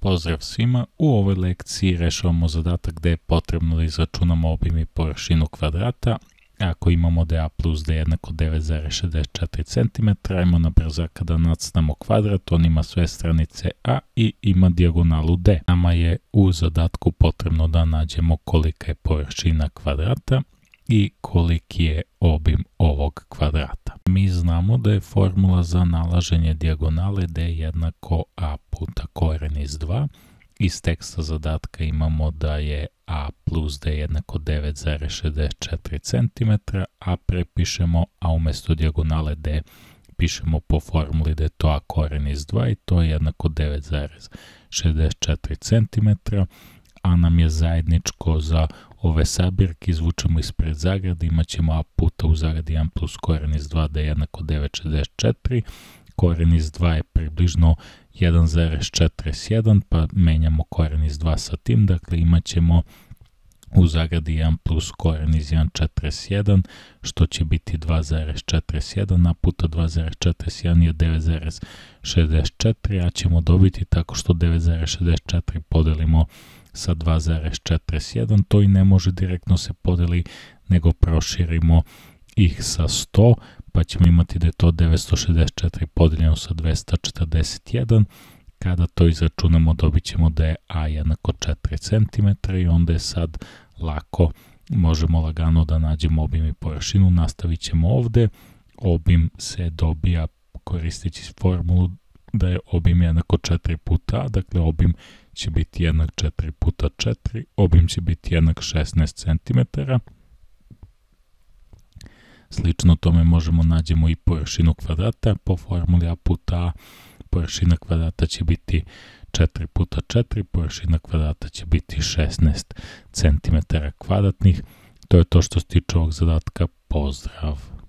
Pozdrav svima, u ovoj lekciji rešavamo zadatak gde je potrebno da izračunamo obim i površinu kvadrata. Ako imamo da je a plus d jednako 9,64 cm, ajmo na brzaka da nacrtamo kvadrat, on ima sve stranice a i ima dijagonalu d. Nama je u zadatku potrebno da nađemo kolika je površina kvadrata i koliki je obim ovog kvadrata. Mi znamo da je formula za nalaženje dijagonale d jednako a puta koren iz 2. Iz teksta zadatka imamo da je a plus d jednako 9,64 cm, a prepišemo, a umjesto dijagonale d pišemo po formuli da je to a koren iz 2 i to je jednako 9,64 cm, a nam je zajedničko za ove sabirke, izvučemo ispred zagrade, imat ćemo a puta u zagradi 1 plus koren iz 2 da je jednako 9,64, koren iz 2 je približno 1,41, pa menjamo koren iz 2 sa tim, dakle imat ćemo u zagradi 1 plus koren iz 1,41, što će biti 2,41, a puta 2,41 je 9,64, a ćemo dobiti tako što 9,64 podelimo sa 2,41, to i ne može direktno se podeli, nego proširimo ih sa 100, pa ćemo imati da je to 964 podeljeno sa 241, kada to izračunamo dobit ćemo da je a jednako 4 cm i onda je sad lako, možemo lagano da nađemo obim i površinu. Nastavit ćemo ovde, obim se dobija koristeći formulu da je obim jednako 4 puta a, dakle obim će biti jednak 4 puta 4, obim će biti jednak 16 cm. Slično tome možemo nađemo i površinu kvadrata, po formuli a puta a, površina kvadrata će biti 4 puta 4, površina kvadrata će biti 16 cm kvadratnih. To je to što se tiče ovog zadatka, pozdrav!